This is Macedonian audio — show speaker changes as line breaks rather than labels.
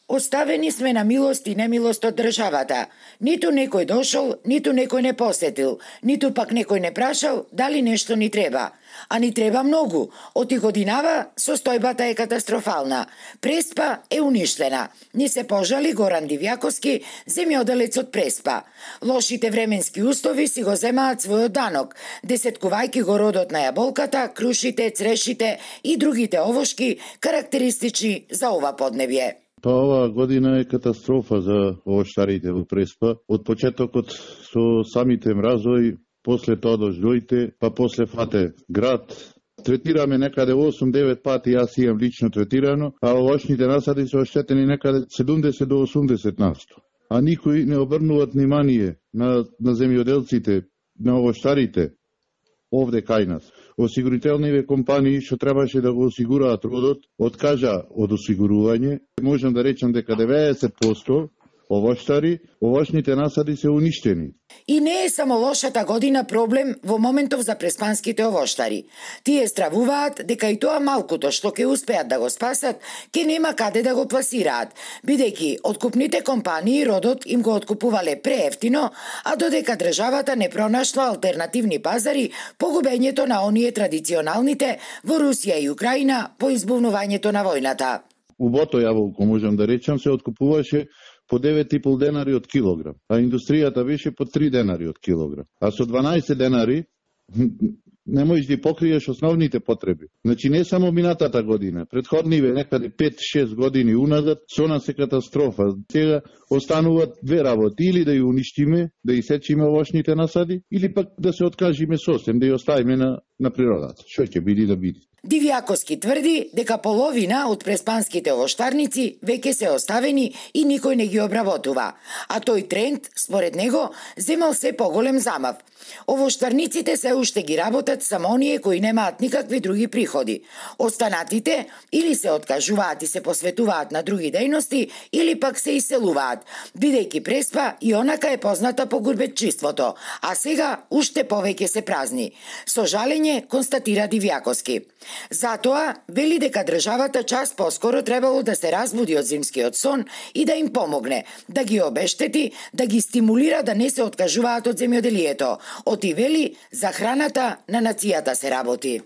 Оставени сме на милост и немилост од државата. Ниту некој дошол, ниту некој не посетил, ниту пак некој не прашал дали нешто ни треба. А ни треба многу. Од и годинава состојбата е катастрофална. Преспа е уништена. Ни се пожали Горан Дивјаковски, земјоделец од Преспа. Лошите временски услови си го земаат својот данок, десеткувајќи го родот на јаболката, крушите, црешите и другите овошки карактеристични за ова поднебје.
Па оваа година е катастрофа за овоштарите во Преспа. Од почетокот со самите мразови, после тоа дождоите, па после фате град. Третираме некаде 8-9 пати, јас имам лично третирано, а овошните насади се оштетени некаде 70 до 80%. А никој не обрнуваат внимание на земјоделците, на овоштарите, овде кај нас. Осигурителниве компании што требаше да го осигураат родот, откажа од осигурување. Можам да речам дека 90% овошните насади се уништени.
И не е само лошата година проблем во моментов за преспанските овоштари. Тие стравуваат дека и тоа малкуто што ќе успеат да го спасат, ќе нема каде да го пласираат, бидејќи откупните компании родот им го откупувале преевтино, а додека државата не пронашла алтернативни пазари, погубењето на оние традиционалните во Русија и Украина по избувнувањето на војната.
Убото јаболко, можам да речам, се откупуваше по 9,5 денари од килограм, а индустријата беше по 3 денари од килограм. А со 12 денари не можеш да покриеш основните потреби. Значи не само минатата година, предходниве некаде 5-6 години уназад, со нас е катастрофа. Сега остануваат две работи, или да ја уништиме, да исечиме овошните насади, или пак да се откажиме сосем, да ја оставиме на природата. Што ќе биде да биде.
Дивјаковски тврди дека половина од преспанските овоштарници веќе се оставени и никој не ги обработува, а тој тренд, според него, земал се поголем замав. Овоштарниците се уште ги работат само оние кои немаат никакви други приходи. Останатите или се откажуваат и се посветуваат на други дејности, или пак се иселуваат, бидејќи Преспа и онака е позната по гурбетчиството, а сега уште повеќе се празни. Со жалење констатира Дивјаковски. Затоа вели дека државата час поскоро требало да се разбуди од зимскиот сон и да им помогне, да ги обештети, да ги стимулира да не се откажуваат од земјоделието. Оти вели, за храната на нацијата се работи.